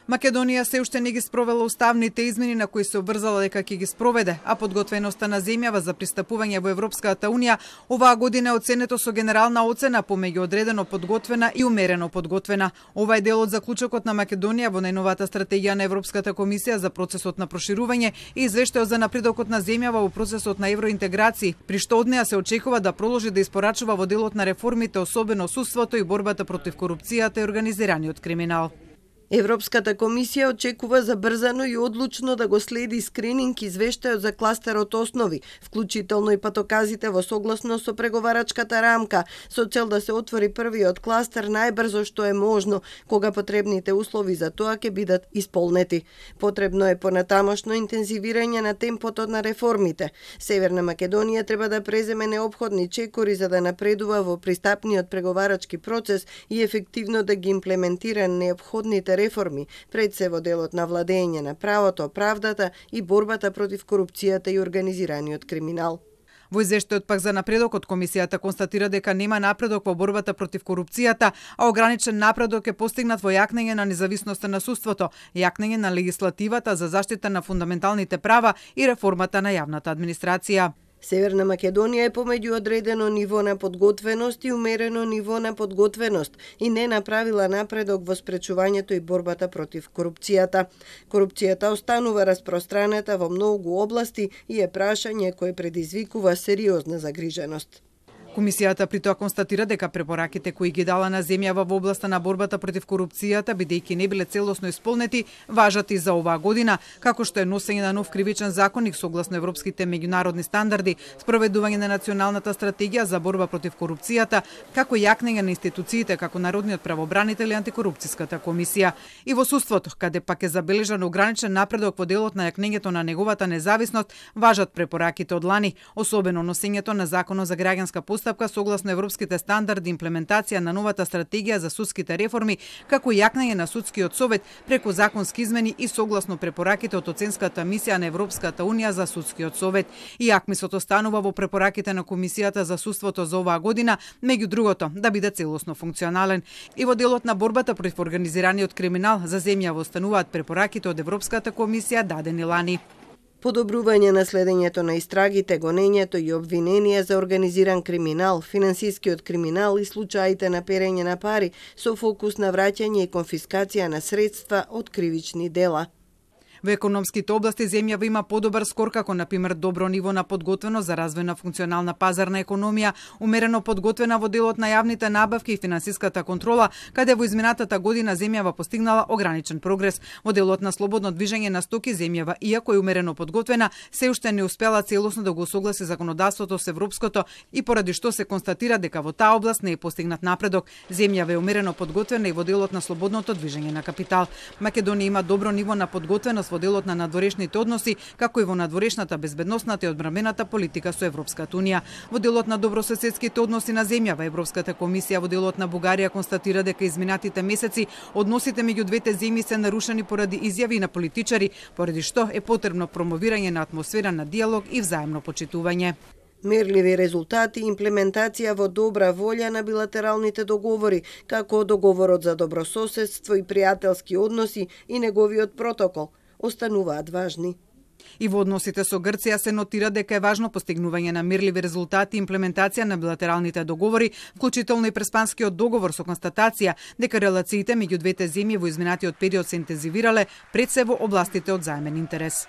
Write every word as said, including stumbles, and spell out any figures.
Македонија се уште не ги спровела уставните измени на кои се обврзала дека ќе ги спроведе, а подготвеноста на земјава за пристапување во Европската унија оваа година е оценето со генерална оцена помеѓу одредено подготвена и умерено подготвена. Ова е дел од заклучокот на Македонија во најновата стратегија на Европската комисија за процесот на проширување и извештајот за напредокот на земјава во процесот на евроинтеграција, при што од неа се очекува да продолжи да испорачува во делот на реформите, особено судството и борбата против корупцијата и организираниот криминал. Европската комисија очекува забрзано и одлучно да го следи скрининг извештајот за кластерот основи, вклучително и патоказите во согласно со преговарачката рамка, со цел да се отвори првиот кластер најбрзо што е можно, кога потребните услови за тоа ќе бидат исполнети. Потребно е понатамошно интензивирање на темпото на реформите. Северна Македонија треба да преземе неопходни чекори за да напредува во пристапниот преговарачки процес и ефективно да ги имплементира неопходните реформи, пред се во делот на владење на правото, правдата и борбата против корупцијата и организираниот криминал. Во извештајот пак за напредокот, комисијата констатира дека нема напредок во борбата против корупцијата, а ограничен напредок е постигнат во јакнење на независноста на судството, јакнење на легислативата за заштита на фундаменталните права и реформата на јавната администрација. Северна Македонија е помеѓу одредено ниво на подготвеност и умерено ниво на подготвеност и не направила напредок во спречувањето и борбата против корупцијата. Корупцијата останува распространета во многу области и е прашање кое предизвикува сериозна загриженост. Комисијата при тоа констатира дека препораките кои ги дала на земјава во областа на борбата против корупцијата, бидејќи не биле целосно исполнети, важат и за оваа година, како што е носење на нов кривичен законник согласно европските меѓународни стандарди, спроведување на националната стратегија за борба против корупцијата, како јакнење на институциите како Народниот правобранител и антикорупцијската комисија. И во судството, каде пак е забележан ограничен напредок во делот на јакнењето на неговата независност, важат препораките од лани, особено носењето на законот за граѓанска постапка согласно европските стандарди, имплементација на новата стратегија за судските реформи, како јакнење на судскиот совет преку законски измени и согласно препораките од оценската мисија на Европската унија за судскиот совет. И акмисот останува во препораките на Комисијата за судството за оваа година, меѓу другото, да биде целосно функционален. И во делот на борбата против организираниот криминал за земјава остануваат препораките од Европската комисија дадени лани. Подобрување на следењето на истрагите, гонењето и обвиненија за организиран криминал, финансискиот криминал и случаите на перење на пари со фокус на враќање и конфискација на средства од кривични дела. Во економските области земјава има подобар скор, како например добро ниво на подготвеност за развој на функционална пазарна економија, умерено подготвена во делот на јавните набавки и финансиската контрола, каде во изминатата година земјава постигнала ограничен прогрес. Во делот на слободно движење на стоки земјава, иако е умерено подготвена, се уште не успела целосно да го согласи законодавството со европското и поради што се констатира дека во таа област не е постигнат напредок. Земјава е умерено подготвена и во делот на слободното движење на капитал. Македонија има добро ниво на подготвеност во делот на надворешните односи, како и во надворешната безбедносната и одбранбената политика со Европската унија. Во делот на добрососедските односи на земјава, Европската комисија во делот на Бугарија констатира дека изминатите месеци односите меѓу двете земји се нарушени поради изјави на политичари, поради што е потребно промовирање на атмосфера на диалог и взаемно почитување. Мерливи резултати и имплементација во добра волја на билатералните договори, како договорот за добрососедство и пријателски односи и неговиот протокол, остануваат важни. И во односите со Грција се нотира дека е важно постигнување на мирливи резултати и имплементација на билатералните договори, вклучително и преспанскиот договор со констатација дека релациите меѓу двете земји во изминатиот период се интензивирале, пред се во областите од заемен интерес.